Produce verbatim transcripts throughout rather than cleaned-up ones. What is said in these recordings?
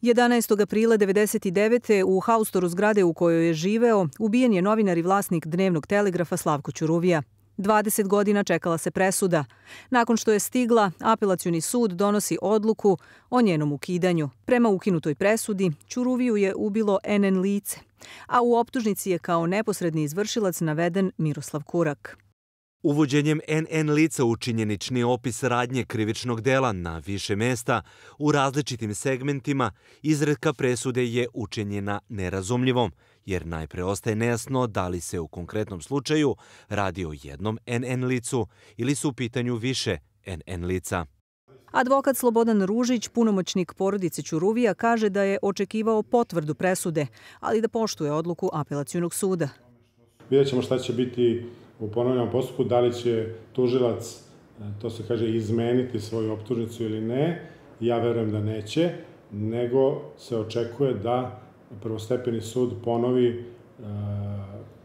jedanaestog aprila devedeset devete. u haustoru zgrade u kojoj je živeo ubijen je novinar i vlasnik Dnevnog telegrafa Slavko Ćuruvija. dvadeset godina čekala se presuda. Nakon što je stigla, Apelacioni sud donosi odluku o njenom ukidanju. Prema ukinutoj presudi, Ćuruviju je ubilo en en lice, a u optužnici je kao neposredni izvršilac naveden Miroslav Kurak. Uvođenjem en en lica u činjenični opis radnje krivičnog dela na više mesta u različitim segmentima izreka presude je učinjena nerazumljivom, jer najpre ostaje nejasno da li se u konkretnom slučaju radi o jednom en en licu ili su u pitanju više en en lica. Advokat Slobodan Ružić, punomoćnik porodice Ćuruvija, kaže da je očekivao potvrdu presude, ali da poštuje odluku Apelacionog suda. Vidjet ćemo šta će biti u ponovljenom postupku, da li će tužilac, to se kaže, izmeniti svoju optužnicu ili ne. Ja verujem da neće, nego se očekuje da prvostepeni sud ponovi e,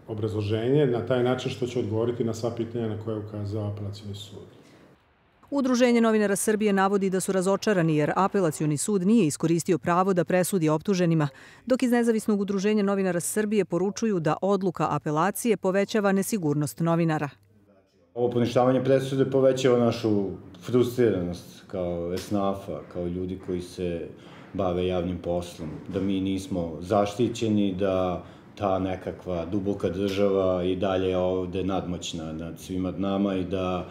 obrazloženje na taj način što će odgovoriti na sva pitanja na koje je ukazao Apelacioni sud. Udruženje novinara Srbije navodi da su razočarani jer Apelacioni sud nije iskoristio pravo da presudi optuženima, dok iz Nezavisnog udruženja novinara Srbije poručuju da odluka apelacije povećava nesigurnost novinara. Ovo poništavanje presude povećava našu frustriranost kao esnafa, kao ljudi koji se bave javnim poslom, da mi nismo zaštićeni, da ta nekakva duboka država i dalje ovde nadmoćna nad svima nama i da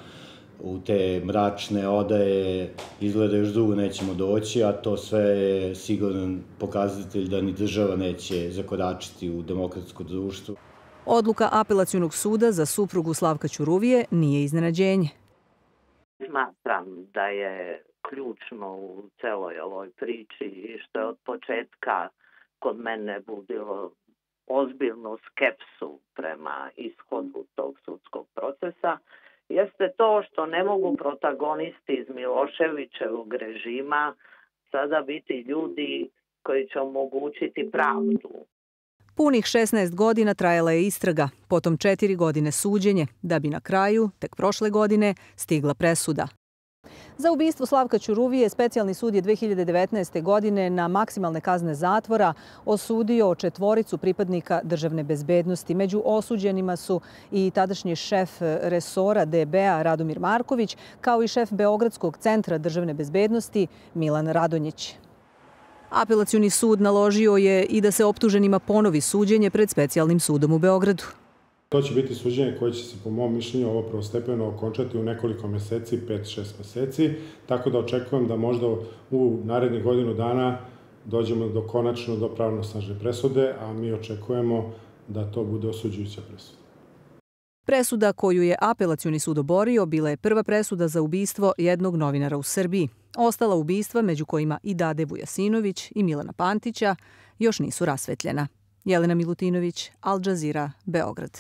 u te mračne odaje izgleda još dugo nećemo doći, a to sve je siguran pokazatelj da ni država neće zakoračiti u demokratsko društvo. Odluka Apelacionog suda za suprugu Slavka Ćuruvije nije iznenađenje. Smatram da je ključno u celoj ovoj priči i što je od početka kod mene budilo ozbiljnu skepsu prema ishodu tog sudskog procesa, jeste to što ne mogu protagonisti iz Miloševićevog režima sada biti ljudi koji će omogućiti pravdu. Punih šesnaest godina trajala je istraga, potom četiri godine suđenje, da bi na kraju, tek prošle godine, stigla presuda. Za ubistvo Slavka Ćuruvije specijalni sud je dve hiljade devetnaeste. godine na maksimalne kazne zatvora osudio četvoricu pripadnika državne bezbednosti. Među osuđenima su i tadašnji šef resora de be a Radomir Marković, kao i šef Beogradskog centra državne bezbednosti Milan Radonjić. Apelacioni sud naložio je i da se optuženima ponovi suđenje pred specijalnim sudom u Beogradu. To će biti suđenje koje će se, po mom mišljenju, ovo prvostepeno okončati u nekoliko meseci, pet šest meseci, tako da očekujem da možda u narednih godinu dana dođemo do konačno do pravnosnažne presude, a mi očekujemo da to bude osuđujuća presuda. Presuda koju je Apelacioni sud oborio bila je prva presuda za ubistvo jednog novinara u Srbiji. Ostala ubistva, među kojima i Dade Vujasinović i Milana Pantića, još nisu rasvetljena. Jelena Milutinović, Al Jazeera, Beograd.